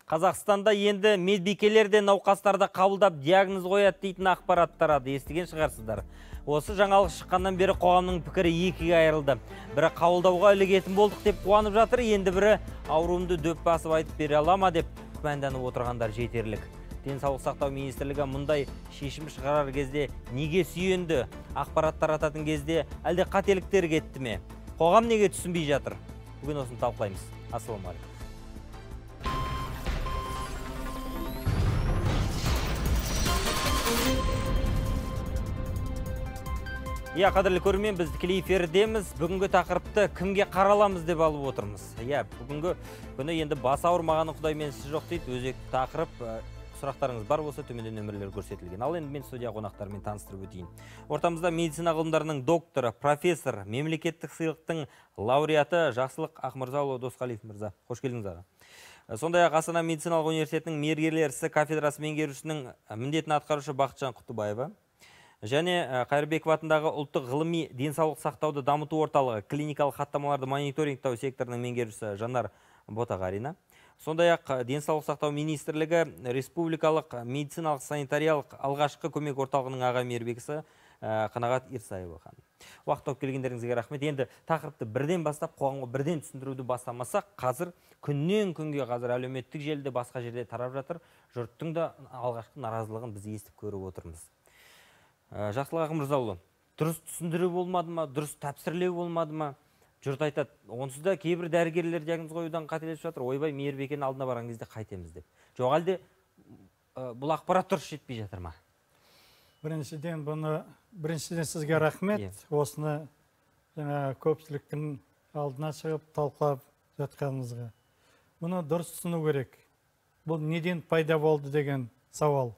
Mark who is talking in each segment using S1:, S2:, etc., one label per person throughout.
S1: Қазақстанда енді медбикелер де науқастарды қабылдап диагноз қояды дейтін ақпарат тарады, естіген шығарсыздар. Осы жаңалық шыққаннан бері қоғамның пікірі екіге айырылды. Бірі қабылдауға ілігетін болдық деп қуанып жатыр, енді бірі ауруымды дөп басып айтып бере ала ма деп күмәнданып отырғандар жетерлік. Денсаулық сақтау министрлігі мұндай шешім шығарар кезде неге сүйенді? Ақпарат тарататын кезде әлде қателіктер кетті ме? Қоғам неге түсінбей жатыр? Бүгін осыны талқылаймыз. Ассалаумағалейкум. Қадірлі көрермен, біз тікелей эфирдеміз. Бүгінгі тақырыпты кімге қараламыз деп алып отырмыз. Бүгінгі күні енді бас ауырмағаны Құдай менсіз жоқ дейді. Өзекті тақырып. Сұрақтарыңыз бар болса, төменде нөмірлер көрсетілген. Ал енді мен студия қонақтарымен таныстырып өтейін. Ортамызда медицина ғылымдарының докторы, профессор, мемлекеттік сыйлықтың лауреаты Жақсылық Ақмырзаұлы Досқалиев мырза. Қош келдіңіз аға. Сондай-ақ Астана медициналық университетінің мергерлер ісі кафедрасы меңгерушісінің міндетін атқарушы Бақытжан Құттыбаева және Қайырбеков атындағы ұлттық ғылыми денсаулық сақтауды дамыту орталығы клиникалық хаттамаларды мониторингтау секторының меңгерушісі Жанар Ботағарина. Сондай-ақ денсаулық сақтау министрлігі республикалық медициналық санитариялық алғашқы көмек орталығының аға мейірбекісі Қанағат Ирсаева ханым. Уақыт тауып келгендеріңізге рахмет. Енді тақырыпты бірден бастап, қоғамға бірден түсіндіруді бастамасақ, қазір күннен күнге әлеуметтік желіде басқа жерде тарап жатыр. Жұрттың да алғашқы наразылығын біз естіп көріп отырмыз. Жақсылық Ақмырзаұлы, дұрыс түсіндіру болмады ма, дұрыс тәпсірлеу болмады ма? Жұрт айтады, онсыз да кейбір дәрігерлер диагноз қоюдан қателесіп жатыр. Ойбай, мейірбекенің алдына барған кезде қайтеміз деп. Жоқ әлде бұл ақпарат дұрыс жетпей жатыр ма?
S2: Біріншіден сізге рахмет. Осыны көпшіліктің алдына шығып талқылап жатқанымызға. Бұны дұрыс түсіну керек. Бұл неден пайда болды деген сауал.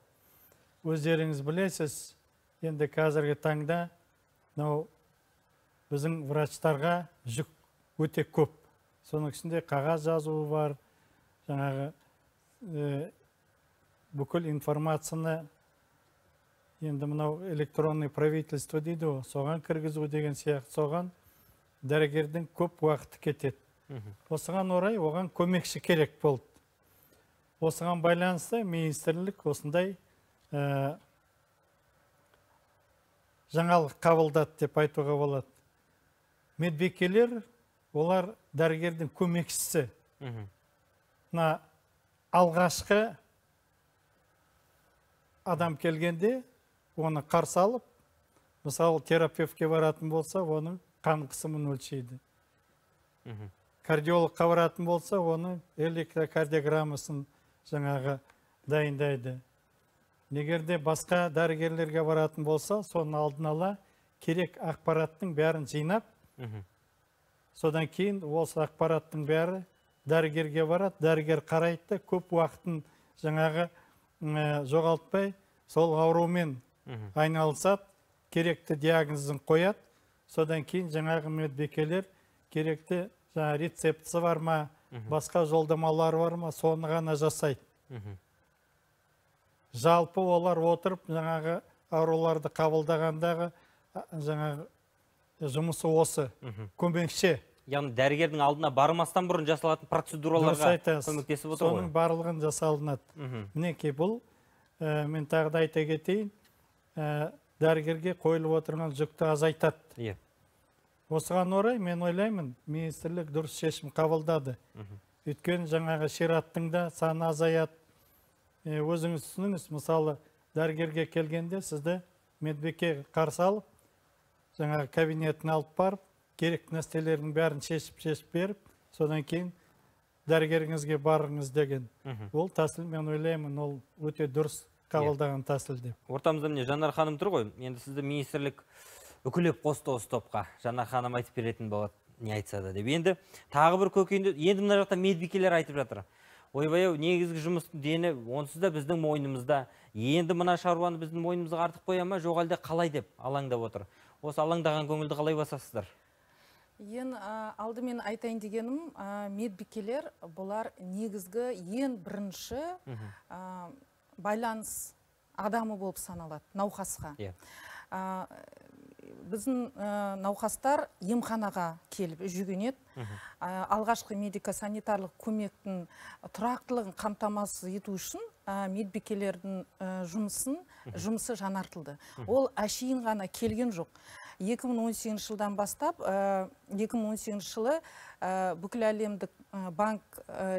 S2: Өздеріңіз білесіз, енді қазіргі таңда біздің врачтарға жүк өте көп. Соның ішінде қағаз жазуы бар, бүкіл информацияны енді мынау электронный правительство дейді, соған кіргізу деген сияқты, соған дәрігердің көп уақыты кетеді. Осыған орай оған көмекші керек болды. Осыған байланысты министрлік осындай жаңалық қабылдады деп айтуға болады. Медбикелер, олар дәрігердің көмекшісі. Алғашқы адам келгенде, оны қарсы алып, мысалы терапевтке баратын болса, оның қан қысымын өлшейді. Кардиологқа баратын болса, оның электрокардиограммасын дайындайды. Негерде басқа дәрігерлерге баратын болса, соның алдын ала керек ақпараттың бәрін жинап, содан кейін осы ақпараттың бәрі дәрігерге барады, дәрігер қарайды, көп уақытын жоғалтпай, сол аурумен айналысады, керекті диагнозын қояды, содан кейін медбикелер керекті рецептісі бар ма, басқа жолдамалар бар ма, соны ғана жасайды. Жалпы олар отырып, ауруларды қабылдағандағы жұмысы осы, көмекші.
S1: Яғни дәрігердің алдына бармастан бұрын жасалатын процедураларға көмектесіп отыр ғой.
S2: Соның барлығын жасалынады. Мінекей бұл, мен тағы да айта кетейін, дәрігерге қойылып отырған жүкті азайтады. Осыған орай мен ойлаймын, министрлік дұрыс шешім қабылдады. Өйткені шираттың да саны азаяды. Өзіңіз түсініңіз, мысалы, дәрігерге келгенде сізді медбике қарсы алып, кабинетін алып барып, керек нәрселердің бәрін шешіп беріп, содан кейін дәрігеріңізге барыңыз деген. Ол тәсіл, мен ойлаймын, ол өте дұрыс қабылдаған тәсіл деп.
S1: Ортамызда міне Жанар ханым тұр ғой. Енді сізді министрлік үкілеп қосты осы топқа. Жанар ханым айтып беретін болады, не айтса да деп. Енді тағы бір көкейінде, енді мына жақта медбикелер айтып жатыр. Ойбай-ау, негізгі жұмыстың дені онсыз да біздің мойнымызда. Енді мына шаруаны біздің мойнымызға артып қоя ма, жоқ әлде қалай деп алаңдап отыр. Осы алаңдаған көңілді қалай басасыздар?
S3: Алдымен айтайын дегенім, медбикелер бұлар негізгі ең бірінші байланыс адамы болып саналады, науқасқа. біздің науқастар емханаға келіп жүгінеді. Алғашқы медико-санитарлық көмектің тұрақтылығын қамтамасыз ету үшін медбикелердің жұмысы жаңартылды. Ол әшейін ғана келген жоқ. 2018 жылдан бастап, 2018 жылы бүкіл әлемдік банк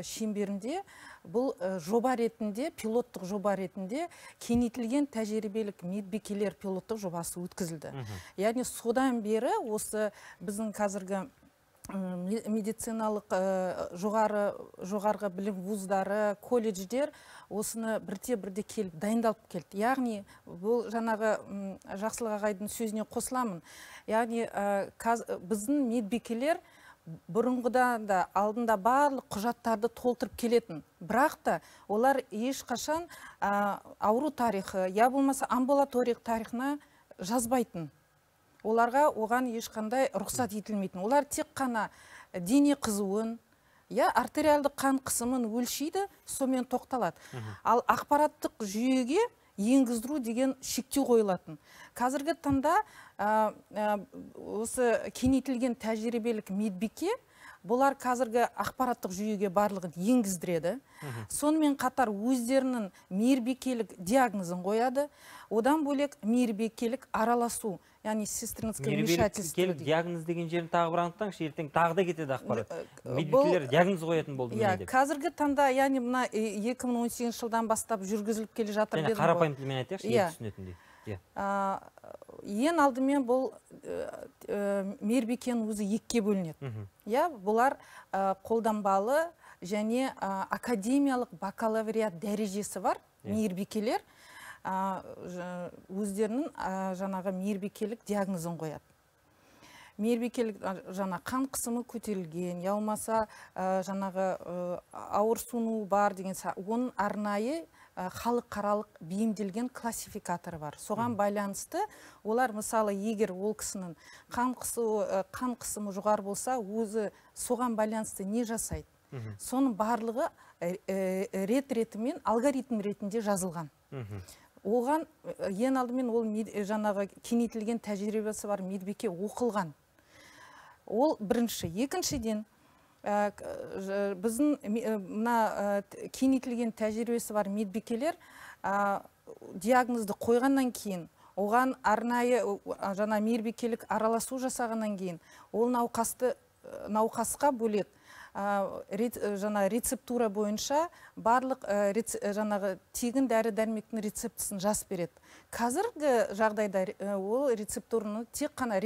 S3: шеңберінде бұл жоба ретінде, пилоттық жоба ретінде кеңейтілген тәжірибелік медбикелер пилоттық жобасы өткізілді. Яғни содан бері осы біздің қазіргі медициналық жоғарғы білім вуздары, колледждер осыны бірте-бірте келіп дайындалып келді. Яғни бұл жаңағы Жақсылық ағайдың сөзіне қосыламын. Яғни біздің медбикелер бұрынғыдан да алдында барлық құжаттарды толтырып келетін. Бірақ та олар ешқашан ауру тарихы, я болмаса амбулаториялық тарихына жазбайтын. Оларға оған ешқандай рұқсат етілмейтін. Олар тек қана дене қызуын, артериалды қан қысымын өлшейді, сонымен тоқталады. Ал ақпараттық жүйеге енгіздіру деген шектеу қойылатын. Қазіргі таңда осы кеңейтілген тәжірибелік медбике бұлар қазіргі ақпараттық жүйеге барлығын енгіздіреді. Сонымен қатар өздерінің мейірбикелік диагнозын қояды. Одан бөлек мейірбикелік араласу, яғни сестринское вмешательство.
S1: Мейірбикелік диагноз деген жерін тағы бір анықтаңызшы, ертең тағы да кетеді ақпарат. Медбикелер диагноз қоятын болды ма деп?
S3: Қазіргі таңда, яғни мына 2018 жылдан бастап жүргізіліп келе жатыр.
S1: Және қарапайым тілмен айтайықшы, ел түсінетіндей.
S3: Ең алдымен бұл мейірбикенің өзі екіге бөлінеді. Бұлар қолданбалы және академиялық бакалавриат дәрежесі бар мейірбикелер өздерінің жаңағы мейірбикелік диагнозын қояды. Мейірбикелік жаңа қан қысымы көтерілген, я болмаса жаңағы ауырсыну бар деген, оның арнайы халықаралық бейімделген классификаторы бар. Соған байланысты олар мысалы егер ол кісінің қан қысымы жоғары болса, өзі соған байланысты не жасайды? Соның барлығы рет-ретімен алгоритм ретінде жазылған. Оған ең алдымен ол жаңағы кеңейтілген тәжірибесі бар медбике оқылған. Ол бірінші. Екіншіден, біздің кеңейтілген тәжірибесі бар медбикелер диагнозды қойғаннан кейін, оған арнайы жаңа мейірбикелік араласу жасағаннан кейін, ол науқасқа бөлек жаңа рецептура бойынша барлық жаңағы тегін дәрі-дәрмектің рецептісін жазып береді. Қазіргі жағдайда ол рецептураны тек қана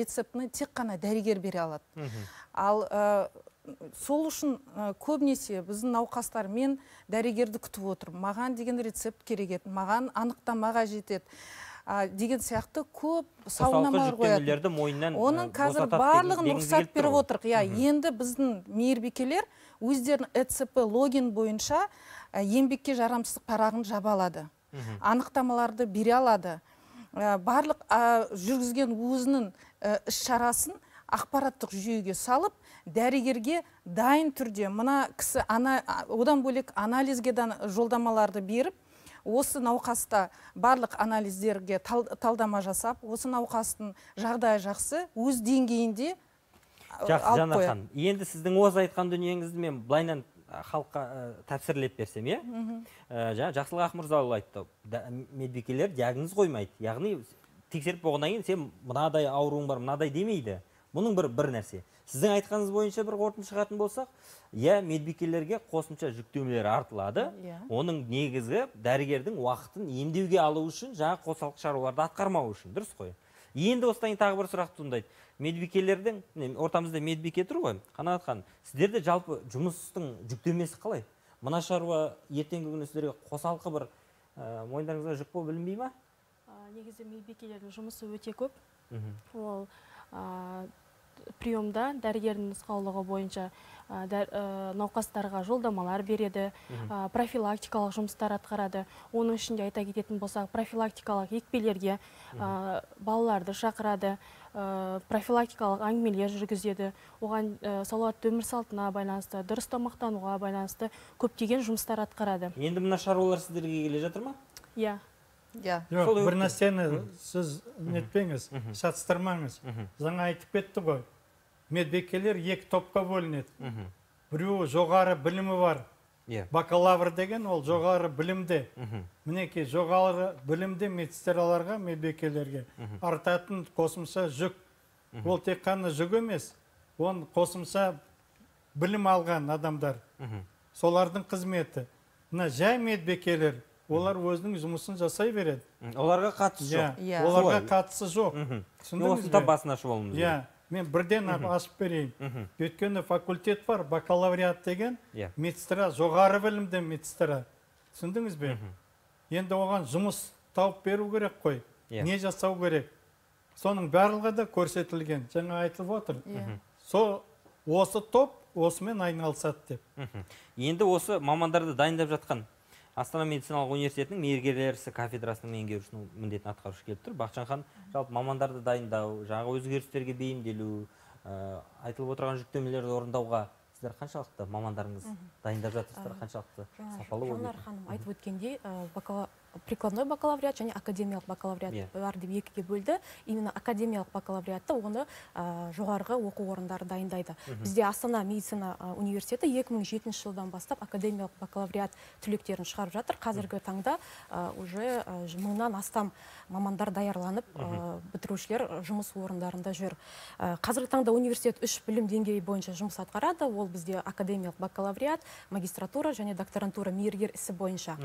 S3: дәрігер бере алады. Ал сол үшін көбінесе біздің науқастар, мен дәрігерді күтіп отырмын, маған деген рецепт керек еді, маған анықтамаға жетеді деген сияқты көп сауалнамалар қояды. Оның қазір барлығын рұқсат беріп отырық. Енді біздің мейірбикелер өздерінің ЭЦП логин бойынша еңбекке жарамсыздық парағын жаба алады. Анықтамаларды бере алады. Барлық жүргізген өзінің іс-шарасын ақпараттық жүйеге салып, дәрігерге дайын түрде мына кісі одан бөлек анализге жолдамаларды беріп, осы науқаста барлық анализдерге талдама жасап, осы науқастың жағдайы жақсы, өз деңгейінде алып қояды.
S1: Енді сіздің осы айтқан дүниеңізді мен былайынан халыққа тәпсірлеп берсем, Жақсылық Ақмырзаұлы айтты, медбикелер диагноз қоймайды. Яғни тексеріп болғаннан кейін сен мынадай ауруың бар, мынадай демейді. Бұның бір нәрсе. Сіздің айтқаныңыз бойынша бір қорытынды шығатын болсақ, медбикелерге қосымша жүктемелер артылады. Оның негізгі дәрігердің уақытын емдеуге алу үшін, жаңа қосалқы шаруаларды атқармау үшін. Дұрыс қой. Енді осыдан тағы бір сұрақ туындайды. Медбикелердің, ортамызда медбике тұр ғой, Қанағат ханым, сіздерде жалпы жұмыстың жүктемесі қалай? Мына шаруа ертеңгі күні сіздерге қосалқы бір мойындарыңызға жүк болып білінбей ма?
S4: Негізі медбикелердің жұмысы өте көп. Ол приемда дәрігердің нұсқаулығы бойынша науқастарға жолдамалар береді, профилактикалық жұмыстар атқарады. Оның ішінде айта кететін болсақ, профилактикалық екпелерге балаларды шақырады, профилактикалық әңгімелер жүргізеді. Оған салауатты өмір салтына байланысты, дұрыс тамақтануға байланысты көптеген жұмыстар атқарады.
S1: Енді мына шаруалар сіздерге келе жатыр ма?
S4: Иә.
S2: Жоқ, бір нәрсені сіз нетпеңіз, шатыстырмаңыз. Жаңа айтып кетті ғой. Медбикелер екі топқа бөлінеді. Біреуі жоғары білімі бар. Бакалавр деген ол жоғары білімде. Мінекей жоғары білімде медсестраларға, медбикелерге артатын қосымша жүк. Ол тек қана жүк емес, оны қосымша білім алған адамдар. Солардың қызметі. Мына жай медбикелер, олар өзінің жұмысын жасай береді.
S1: Оларға қатысы жоқ.
S2: Оларға қатысы жоқ.
S1: Осында басын ашып алуымыз.
S2: Мен бірден ашып берейін. Өйткені факультет бар, бакалавриат деген медсестра, жоғары білімді медсестра. Түсіндіңіз бе? Енді оған жұмыс тауып беру керек қой. Не жасау керек? Соның барлығы да көрсетілген. Жаңа айтылып отыр. Осы топ осымен айналысады деп.
S1: Енді осы мамандарды дайындап жатқан Астана медициналық университетінің мейіргерлер ісі кафедрасының меңгерушісінің міндетін атқарушы келіп тұр. Бақытжан, жалпы мамандарды дайындау, жаңағы өзгерістерге бейімделу, айтылып отырған жүктемелерді орындауға сіздер қаншалықты мамандарыңыз дайындап жатырсыздар, қаншалықты сапалы болып?
S5: Жанар ханым айтып өткендей, прикладной бакалавриат және академиялық бакалавриат бар деп екіге бөлді. Именно академиялық бакалавриатты оны жоғарғы оқу орындары дайындайды. Бізде Астана медицина университеті 2007 жылдан бастап академиялық бакалавриат түлектерін шығарып жатыр. Қазіргі таңда уже 1000-нан астам мамандар даярланып, бітірушілер жұмыс орындарында жүр. Қазіргі таңда университет 3 білім деңгейі бойынша жұмыс атқарады. Ол бізде академиялық бакалавриат, магистратура және докторантура мейіргер ісі бойынша.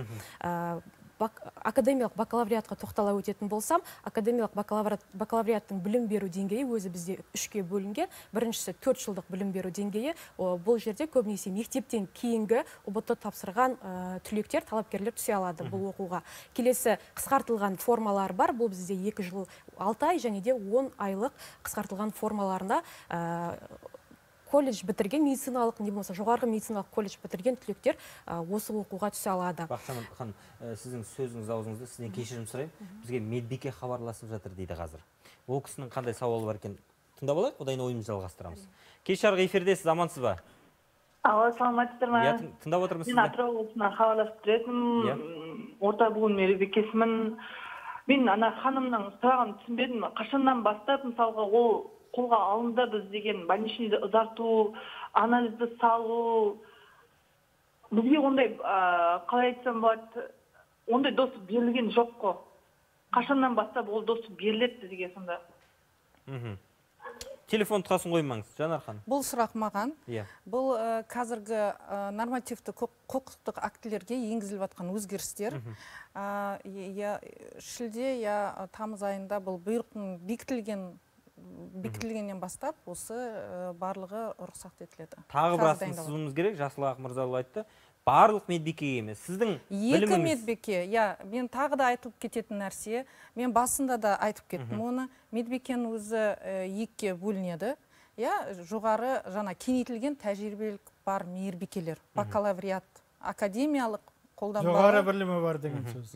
S5: Академиялық бакалавриатқа тоқтала өтетін болсам, академиялық бакалавриаттың білім беру деңгейі өзі бізде 3-ке бөлінген. Біріншісі 4 жылдық білім беру деңгейі. Бұл жерде көбінесе мектептен кейінгі ұбт тапсырған түлектер, талапкерлер түсе алады бұл оқуға. Келесі қысқартылған формалар бар. Бұл бізде 2 жыл 6 ай және де 10 айлық қысқартылған формаларында колледж бітірген медициналық, не болмаса жоғарғы медициналық колледж бітірген түлектер осы оқуға түсе алады.
S1: Бақытжан ханым, сіздің сөзіңіз аузыңызда, сізден кешірім сұрайын. Бізге медбике хабарласып жатыр дейді қазір. Ол кісінің қандай сауалы бар екен? Тыңдап алайық, одан ойымызды жалғастырамыз. Кеш жарғы эфирдесіз, амансыз ба?
S6: Алло, саламатсыздар ма?
S1: Тыңдап отырмыз сізді.
S6: Мен Атырау облысынан хабарласып тұр. Орта буын медбикесімін. Мен ана ханымның сұрағын түсінбедім. Қашаннан бастап, мысалға, ол қолға алынды біз деген больничныйды ұзарту, анализді салу. Бізге ондай, қалай айтсам болады, ондай доступ берілген жоқ қой. Қашаннан бастап ол доступ беріледі бізге сонда?
S1: Телефон тұтқасын қоймаңыз, Жанар ханым.
S3: Бұл сұрақ маған. Бұл қазіргі нормативті құқықтық актілерге енгізіліп жатқан өзгерістер. Шілде, тамыз айында бұл бұйрықтың бекітілгеннен бастап осы барлығы рұқсат етіледі.
S1: Тағы бірасын сызуымыз керек, Жасыл Ақ Мырзалы айтты. Барлық медбике емес, сіздің біліміңіз.
S3: 2 медбике, мен тағы да айтылып кететін нәрсе, мен басында да айтып кеттім оны, медбикенің өзі 2-ке бөлінеді. Жоғары жаңа кеңейтілген тәжірибелік бар мейірбикелер, бакалавриат, академиялық қолданбалы.
S2: Жоғары білімі бар деген сөз.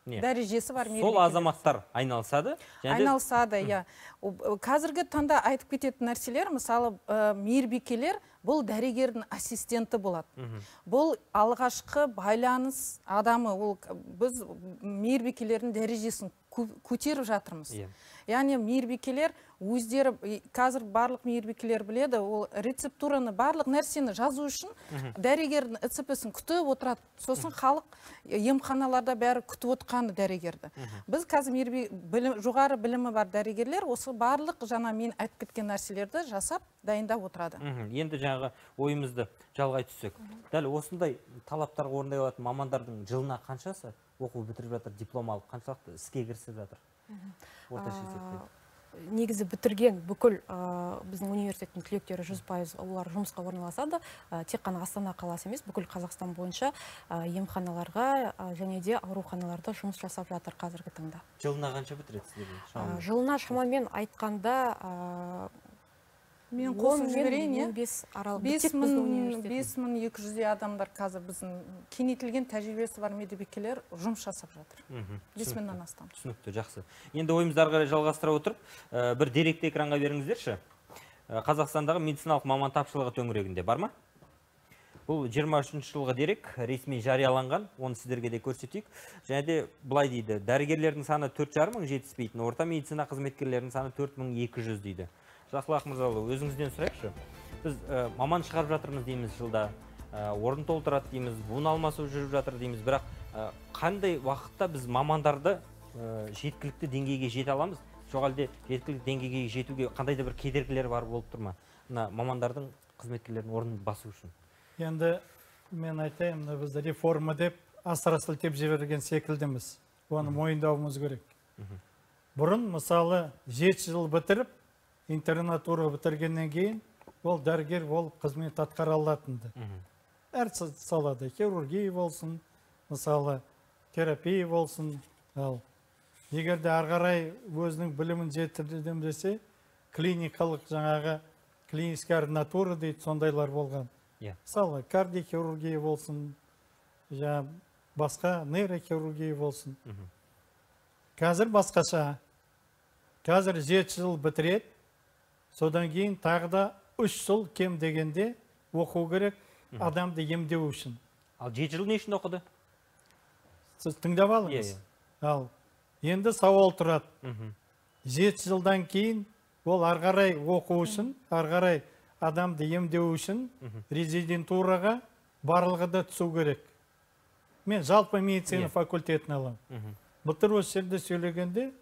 S3: Дәрежесі бар
S1: мейірбикелер. Сол азаматтар айналысады?
S3: Айналысады, Қазіргі таңда айтып кететін нәрселер, мысалы, мейірбикелер бұл дәрігердің ассистенті болады. Бұл алғашқы байланыс адамы, біз мейірбикелердің дәрежесін көтеріп жатырмыз. Яғни мейірбикелер өздері, қазір барлық мейірбикелер біледі, ол рецептураны, барлық нәрсені жазу үшін дәрігердің ІЦП-сін күтіп отырады. Сосын халық емханаларда бәрі күтіп отырғаны дәрігерді. Біз қазір жоғары білімі бар дәрігерлер осы барлық жаңа мен айтып кеткен нәрселерді жасап, дайындап отырады.
S1: Енді жаңағы ойымызды жалғай түссек. Дәл осындай талаптарға орындай алатын мамандардың жылына қаншасы оқу бітіріп жатыр, диплом алып, қаншалықты іске кірісіп жатыр? Орташа есеппен.
S5: Негізі бітірген бүкіл біздің университеттің түлектері 100% олар жұмысқа орналасады. Тек қана Астана қаласы емес, бүкіл Қазақстан бойынша емханаларға және де ауруханаларда жұмыс жасап жатыр қазіргі таңда.
S1: Жылына қанша бітіреді?
S5: Жылына шамамен айтқанда
S3: мен қосып жіберейін, 5200 адамдар қазір біздің кеңейтілген тәжірибесі бар медбикелер жұмыс жасап жатыр. 5000-нан астам.
S1: Түсінікті, жақсы. Енді ойымызды ары қарай жалғастыра отырып, бір деректі экранға беріңіздерші. Қазақстандағы медициналық маман тапшылығы төңірегінде бар ма? Бұл 23 жылғы дерек, ресми жарияланған, оны сіздерге де көрсетейік. Және де былай дейді, дәрігерлердің саны 4,5 мың жетіспейтін, орта медицина қызметкерлерінің саны 4200 дейді. Жақсылық Мырзаұлы, өзіңізден сұрайықшы. Біз маман шығарып жатырмыз дейміз жылда, орын толтырады дейміз, буын алмасу жүріп жатыр дейміз, бірақ қандай уақытта біз мамандарды жеткілікті деңгейге жете аламыз? Жоқ әлде жеткілікті деңгейге жетуге қандай да бір кедергілер бар болып тұр ма? Мына мамандардың, қызметкерлердің орнын басу үшін.
S2: Енді мен айтайын, біз реформа деп асыра сілтеп жіберген секілдіміз. Оны мойындауымыз керек. Бұрын мысалы 7 жыл бітіріп, интернатура бітіргеннен кейін ол дәрігер болып қызмет атқара алатынды. Әр салада хирургия болсын, мысалы терапия болсын. Ал егер де ары қарай өзінің білімін жетілдірдім десе, клиникалық жаңағы клиническая ординатура дейді, сондайлар болған. Мысалы кардиохирургия болсын, басқа нейрохирургия болсын. Қазір басқаша. Қазір 7 жыл бітіреді, содан кейін тағы да 3 жыл кем дегенде оқу керек адамды емдеу үшін.
S1: Ал 7 жыл не үшін оқыды?
S2: Сіз тыңдап алыңыз. Ал енді сауал тұрады. 7 жылдан кейін ол ары қарай оқу үшін, ары қарай адамды емдеу үшін резидентураға барлығы да түсу керек. Мен жалпы медицина факультетін алам. Былтыр осы жерде сөйлегенде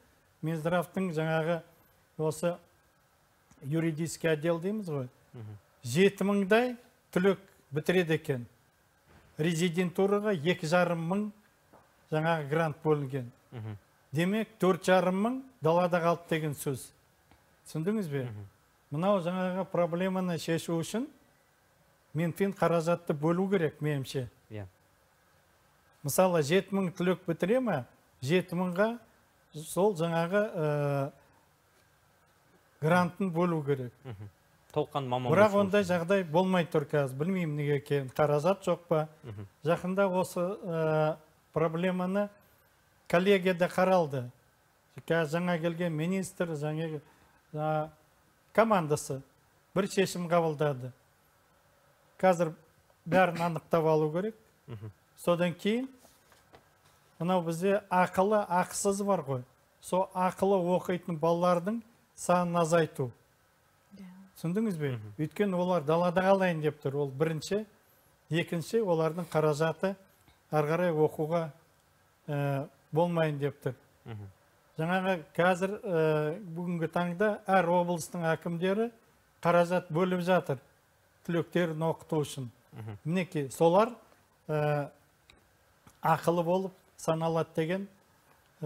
S2: Минздравтың жаңағы осы юридический отдел дейміз ғой. 7000-дай түлек бітіреді екен. Резидентураға 2,5 мың жаңағы грант бөлінген. Демек 4,5 мың далада қалды деген сөз. Түсіндіңіз бе? Мынау жаңағы проблеманы шешу үшін менпен қаражатты бөлу керек, меніңше. Мысалы 7000 түлек бітіре ме, 7000-ға сол жаңағы грантын бөлу керек.
S1: Толқан маман.
S2: Бірақ ондай жағдай болмай тұр қазір. Білмеймін неге екен, қаражат жоқ па. Жақында осы проблеманы коллегияда қаралды. Жаңа келген министр, жаңа командасы бір шешім қабылдады. Қазір бәрін анықтап алу керек. Содан кейін мынау бізде ақылы, ақысыз бар ғой. Со ақылы оқитын балалардың санын азайту. Түсіндіңіз бе? Өйткені олар далада қалайын деп тұр. Ол бірінші, екінші олардың қаражаты ары қарай оқуға болмайын деп тұр. Жаңағы қазір бүгінгі таңда әр облыстың әкімдері қаражат бөліп жатыр түлектерін оқыту үшін. Мінекей, солар ақылы болып саналады деген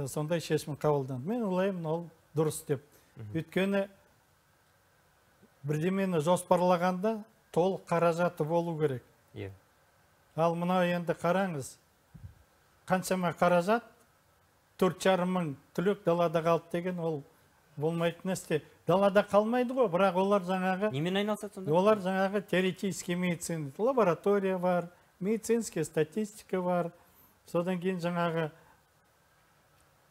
S2: сондай шешім қабылданды. Мен ойлаймын, ол дұрыс деп. Өйткені бірдемені жоспарлағанда толық қаражаты болу керек. Ал мынау енді қараңыз, қаншама қаражат, 4,5 мың түлек далада қалды деген ол болмайтын нәрсе. Далада қалмайды ғой, бірақ олар жаңағы...
S1: Немен айналысады сонда?
S2: Олар жаңағы теоретический медицина, лаборатория бар, медицинская статистика бар, содан кейін жаңағы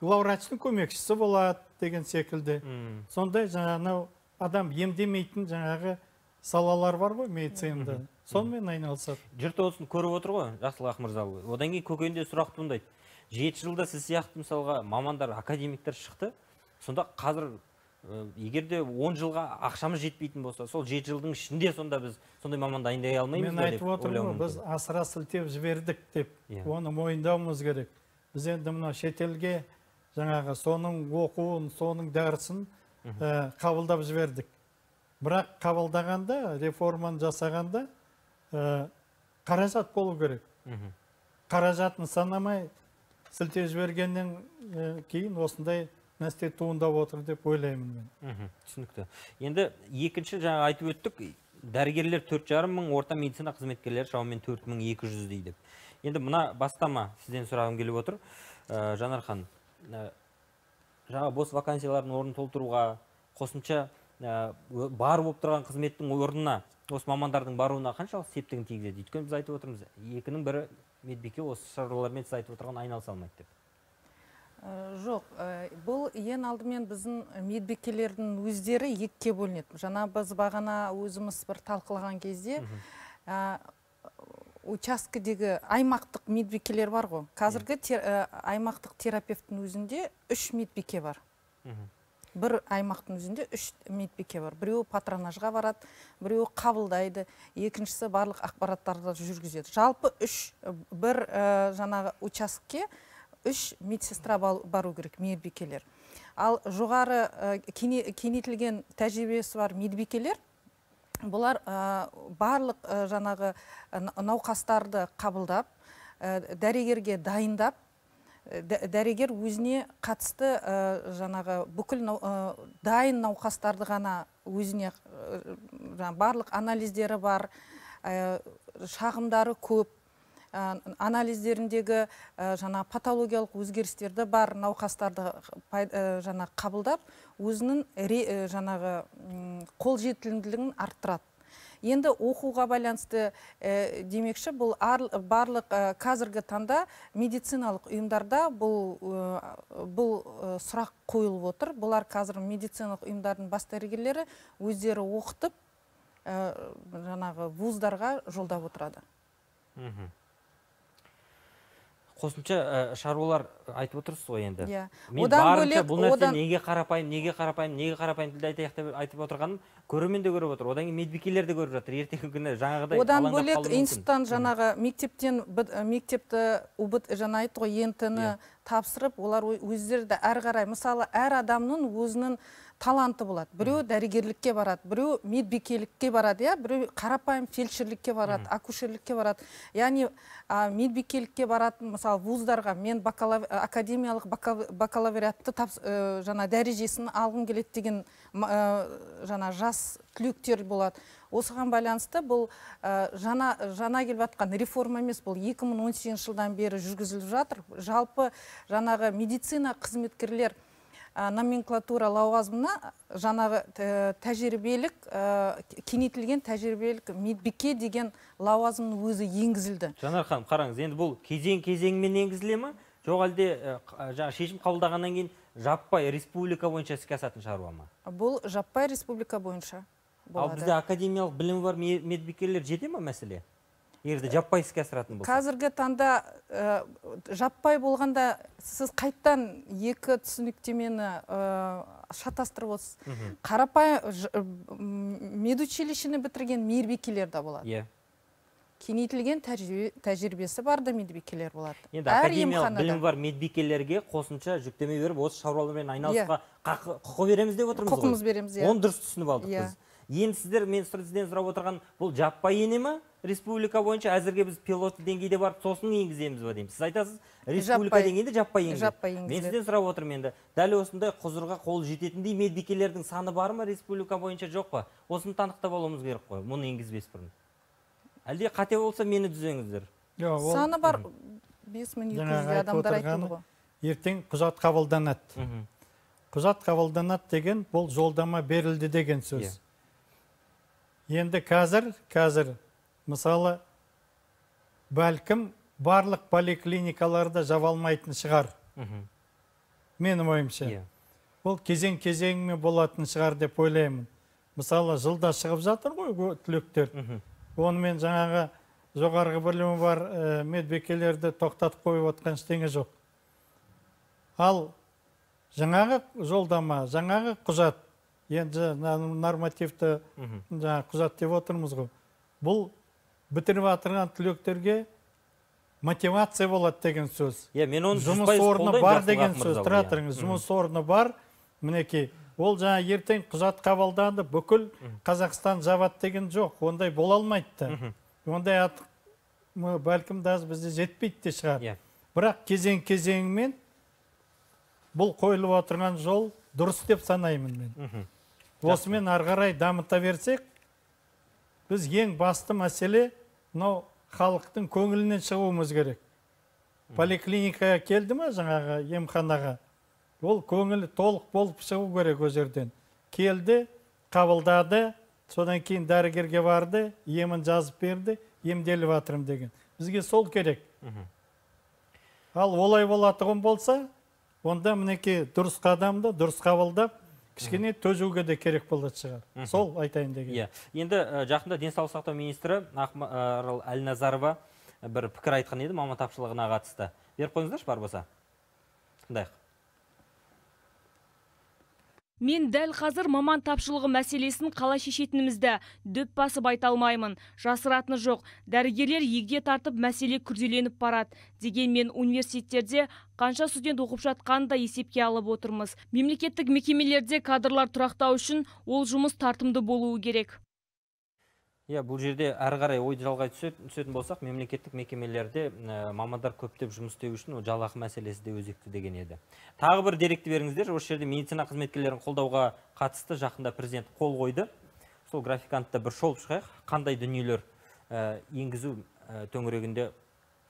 S2: главврачтың көмекшісі болады деген секілді. Сондай жаңағы адам емдемейтін жаңағы салалар бар ғой медицинада. Сонымен айналысады.
S1: Жұрт осын көріп отыр ғой, Жақсылық Мырзаұлы. Одан кейін көкейінде сұрақ туындайды. 7 жылда сіз сияқты мысалға мамандар, академиктер шықты. Сонда қазір егерде 10 жылға ақшамыз жетпейтін болса, сол 7 жылдың ішінде сонда біз сондай маман дайындай алмаймыз ба деп ойлауым мүмкін.
S2: Мен айтып отырмын, біз асыра сілтеп жібердік деп, оны мойындауымыз керек. Біз енді мына шетелге жаңағы соның оқуын, соның дәрісін қабылдап жібердік. Бірақ қабылдағанда, реформаны жасағанда қаражат болу керек. Қаражатын санамай сілтеп жібергеннен кейін осындай нәрсе туындап отыр деп ойлаймын мен.
S1: Түсінікті. Енді екінші жаңа айтып өттік, дәрігерлер 4,5 мың, орта медицина қызметкерлері шамамен 4200 дейді. Енді мына бастама сізден сұрағым келіп отыр. Жанархан, жаңа бос вакансиялардың орнын толтыруға, қосымша бар болып тұрған қызметтің орнына, осы мамандардың баруына қаншалық септігін тигізеді? Өйткені біз айтып отырмыз, екінің бірі медбике осы шаруалармен сіз айтып отырған айналыса алмайды деп.
S3: Жоқ, бұл ең алдымен біздің медбикелердің өздері екіге бөлінеді. Жаңа біз бағана өзіміз бір талқылаған кезде учаскедегі аймақтық медбикелер бар ғой. Қазіргі аймақтық терапевттің өзінде 3 медбике бар. Бір аймақтың өзінде 3 медбике бар. Біреуі патронажға барады, біреуі қабылдайды, екіншісі барлық ақпараттарды жүргізеді. Жалпы бір жаңағы участке 3 медсестра бару керек, медбикелер. Ал жоғары кеңейтілген тәжірибесі бар медбикелер, бұлар барлық жаңағы науқастарды қабылдап, дәрігерге дайындап, дәрігер өзіне қатысты жаңағы бүкіл дайын науқастарды ғана өзіне барлық анализдері бар, шағымдары көп, анализдеріндегі жаңа патологиялық өзгерістерді бар науқастарды жаңа қабылдап, өзінің жаңағы қолжетімділігін арттырады. Енді оқуға байланысты демекші, бұл барлық қазіргі таңда медициналық ұйымдарда бұл сұрақ қойылып отыр. Бұлар қазір медициналық ұйымдардың бас дәрігерлері өздері оқытып, жаңағы вуздарға жолдап отырады.
S1: Қосымша шаруалар айтып отырсыз ғой енді. Мен барынша бұл нәрсе неге қарапайым тілде айтып отырғаным көрермен де көріп отыр. Одан кейін медбикелер де көріп жатыр. Ертеңгі күні жаңағыдай
S3: одан бөлек институттан жаңағы мектепті жаңа айтты ғой, ЕНТ-ні тапсырып, олар өздері де әрі қарай, мысалы, әр адамның өзінің таланты болады. Біреу дәрігерлікке барады, біреу медбикелікке барады, біреу қарапайым фельдшерлікке барады, акушерлікке барады. Яғни медбикелікке баратын, мысалы, вуздарға мен академиялық бакалавриатты жаңа дәрежесін алғым келеді деген жаңа жас түлектер болады. Осыған байланысты бұл жаңа келіп жатқан реформа емес, бұл 2018 жылдан бері жүргізіліп жатыр. Жалпы жаңағы медицина қызметкерлер номенклатура лауазымына жаңағы тәжірибелік, кеңейтілген тәжірибелік медбике деген лауазымның өзі енгізілді.
S1: Жанар ханым, қараңыз, енді бұл кезең-кезеңмен енгізіле ме? Жоқ әлде шешім қабылдағаннан кейін жаппай республика бойынша іске асатын шаруа ма?
S3: Бұл жаппай республика бойынша болады.
S1: Ал бізде академиялық білімі бар медбикелер жете ма мәселе? Егерде жаппай іске асыратын болса.
S3: Қазіргі таңда жаппай болғанда сіз қайттан екі түсініктемені шатастырып отырсыз. Қарапайым медучилищені бітірген медбикелер де болады. Кеңейтілген тәжірибесі бар да медбикелер болады.
S1: Енді академиялық білім бар медбикелерге қосымша жүктеме беріп, осы шаруалармен айналысуға құқы береміз деп отырмыз ғой.
S3: Құқымыз береміз,
S1: оны дұрыс түсініп алдық біз. Енді сіздер, мен сізден сұрап отырған, бұл жаппай ене ме? Республика бойынша әзірге біз пилот деңгейде барып, сосын енгіземіз ба дейміз. Сіз айтасыз, республика деңгейде жаппай енгізеді. Мен сізден сұрап отырмын енді, дәл осындай құзырға қол жететіндей медбикелердің саны бар ма республика бойынша, жоқ па? Осыны танықтап алуымыз керек қой, мұны енгізбес бұрын. Әлде қате болса мені түзеңіздер.
S3: Саны бар 5200 адамдар айтылды ғой.
S2: Ертең құжат қабылданады. Құжат қабылданады деген бұл жолдама берілді деген сөз. Енді қазір мысалы бәлкім барлық поликлиникаларда жабалмайтын шығар. Менің ойымша. Бұл кезең-кезеңмен болатын шығар деп ойлаймын. Мысалы жылда шығып жатыр ғой түлектер. Онымен жаңағы жоғарғы білімі бар медбикелерді тоқтатып қойып отқан ештеңе жоқ. Ал жаңағы жолдама, жаңағы құжат, енді нормативті құжат деп отырмыз ғой. Бұл бітіріп атырған түлектерге мотивация болады деген сөз. Жұмыс орны бар деген сөз. Тұра тұрыңыз, жұмыс орны бар. Мінекей, ол жаңа ертең құжат қабылданды, бүкіл Қазақстан жабады деген жоқ. Ондай бола алмайды. Ондай бәлкім бізде жетпейді де шығар. Бірақ кезең-кезеңмен бұл қойылып отырған жол дұрыс деп санаймын мен. Осымен ары қарай дамыта берсек, біз ең басты мәселе халықтың көңілінен шығуымыз керек. Поликлиникаға келді ма жаңағы емханаға? Ол көңілі толық болып шығу керек о жерден. Келді, қабылдады, содан кейін дәрігерге барды, емін жазып берді, емделіп жатырмын деген. Бізге сол керек. Ал олай болатығын болса, онда мінекей дұрыс қадамды дұрыс қабылдап, кішкене төзуге де керек болады шығар. Сол айтайын деген.
S1: Енді жақында денсаулық сақтау министрі Ақмарал Әлназарова бір пікір айтқан еді маман тапшылығына қатысты. Беріп қойыңыздаршы бар болса. Тыңдайық.
S7: Мен дәл қазір маман тапшылығы мәселесін қалай шешетінімізді дөп басып айта алмаймын. Жасыратыны жоқ. Дәрігерлер егде тартып мәселе күрделеніп барады. Дегенмен университеттерде қанша студент оқып жатқанын да есепке алып отырмыз. Мемлекеттік мекемелерде кадрлар тұрақтау үшін ол жұмыс тартымды болуы керек.
S1: Бұл жерде әрі қарай ойды жалғай түсетін болсақ, мемлекеттік мекемелерде мамандар көптеп жұмыс істеу үшін жалақы мәселесі де өзекті деген еді. Тағы бір деректі беріңіздер, осы жерде медицина қызметкерлерін қолдауға қатысты жақында президент қол қойды. Сол графикантта бір шолып шығайық, қандай дүниелер енгізу төңірегінде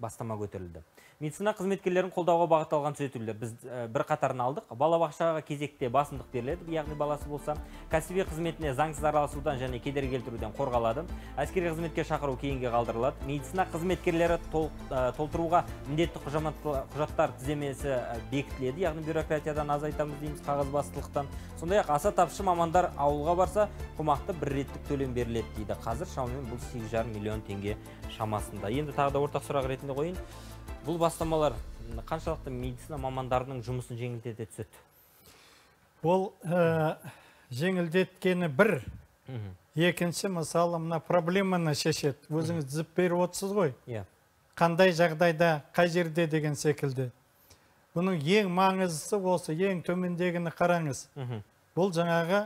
S1: бастама көтерілді. Медицина қызметкерлерін қолдауға бағытталған түзетулер біз бір қатарын алдық. Балабақшаға кезекте басымдық беріледі, яғни баласы болса, кәсіби қызметіне заңсыз араласудан және кедергі келтіруден қорғалады. Әскери қызметке шақыру кейінге қалдырылады. Медицина қызметкерлері толтыруға міндетті құжаттар тіземесі бекітіледі, яғни бюрократиядан азайтамыз дейміз, қағазбастылықтан. Сондай-ақ аса тапшы мамандар ауылға барса, қомақты бір реттік төлем беріледі дейді. Қазір шамамен бұл 8,5 миллион теңге шамасында. Енді тағы да ортақ сұрақ ретінде қойын. Бұл бастамалар қаншалықты медицина мамандарының жұмысын жеңілдете түседі?
S2: Бұл жеңілдеткені бір. Екінші, мысалы, мына проблеманы шешеді. Өзіңіз зіп беріп отырсыз ғой. Қандай жағдайда, қай жерде деген секілді. Бұның ең маңыздысы осы, ең төмендегіні қараңыз. Бұл жаңағы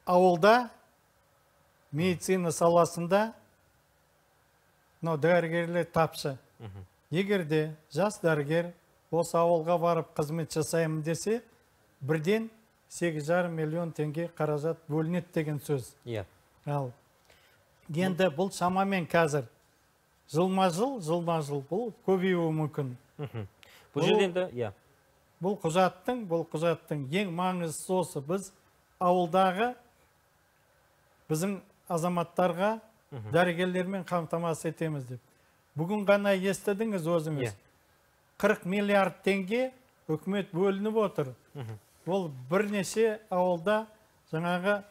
S2: ауылда медицина саласында дәрігерлер тапшы. Егерде жас дәрігер осы ауылға барып қызмет жасаймын десе, бірден 8,5 миллион теңге қаражат бөлінеді деген сөз. Ал енді бұл шамамен қазір жылма-жыл бұл көбеюі мүмкін. Бұл құжаттың ең маңыздысы осы. Біз ауылдағы біздің азаматтарға дәрігерлермен қамтамасыз етеміз деп. Бүгін ғана естідіңіз өзіңіз. 40 миллиард теңге үкімет бөлініп отыр. Ол бірнеше ауылда жаңағы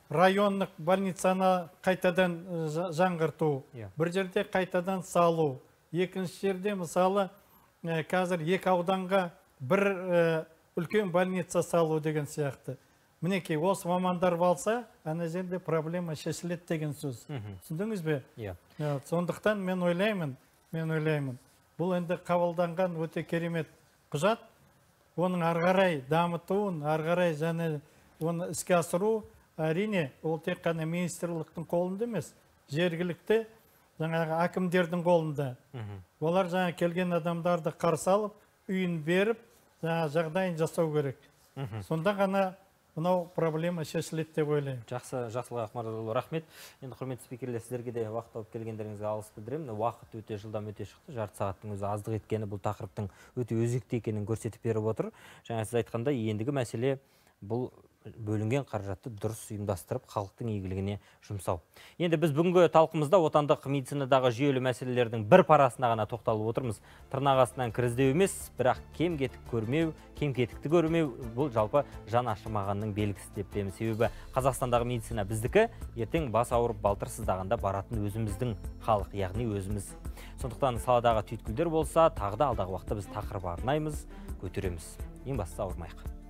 S2: районлық больницаны қайтадан жаңғырту, бір жерде қайтадан салу. Екінші жерде мысалы қазір 2 ауданға бір үлкен больница салу деген сияқты. Мінекей, осы мамандар балса, ана жерде проблема шешіледі деген сөз. Түсіндіңіз бе? Сондықтан мен ойлаймын, бұл енді қабылданған өте керемет құжат. Оның арғарай дамытуын, арғарай және оны іске асыру, әрине, ол тек қана министрліктің қолында емес, жергілікті жаңағы әкімдердің қолында. Олар жаңа келген адамдарды қарсы алып, үйін беріп, жағдайын жасау керек. Сонда ғана мынау проблема шешіледі деп ойлаймын.
S1: Жақсылық Ақмаралұлы, рахмет. Енді құрметті спикерлер, сіздерге де уақыт тауып келгендеріңізге алғыс білдіремін. Уақыт өте жылдам өте шықты. Жарты сағаттың өзі аздық еткені бұл тақырыптың өте өзекті екенін көрсетіп беріп отыр. Жаңа сіз айтқандай, ендігі мәселе бұл бөлінген қаражатты дұрыс ұйымдастырып, халықтың игілігіне жұмсау. Енді біз бүгінгі талқымызда отандық медицинадағы жүйелі мәселелердің бір парасына ғана тоқталып отырмыз. Тырнақ астынан кіріздеу емес, бірақ кем-кетікті көрмеу бұл жалпы жан ашымағанның белгісі деп білеміз. Себебі Қазақстандағы медицина біздікі, ертең бас ауырып балтыр сыздағанда баратын өзіміздің халық, яғни өзіміз. Сондықтан саладағы түйткілдер болса, тағы да алдағы уақытта біз тақырып арнаймыз, көтереміз. Ең бастысы ауырмайық.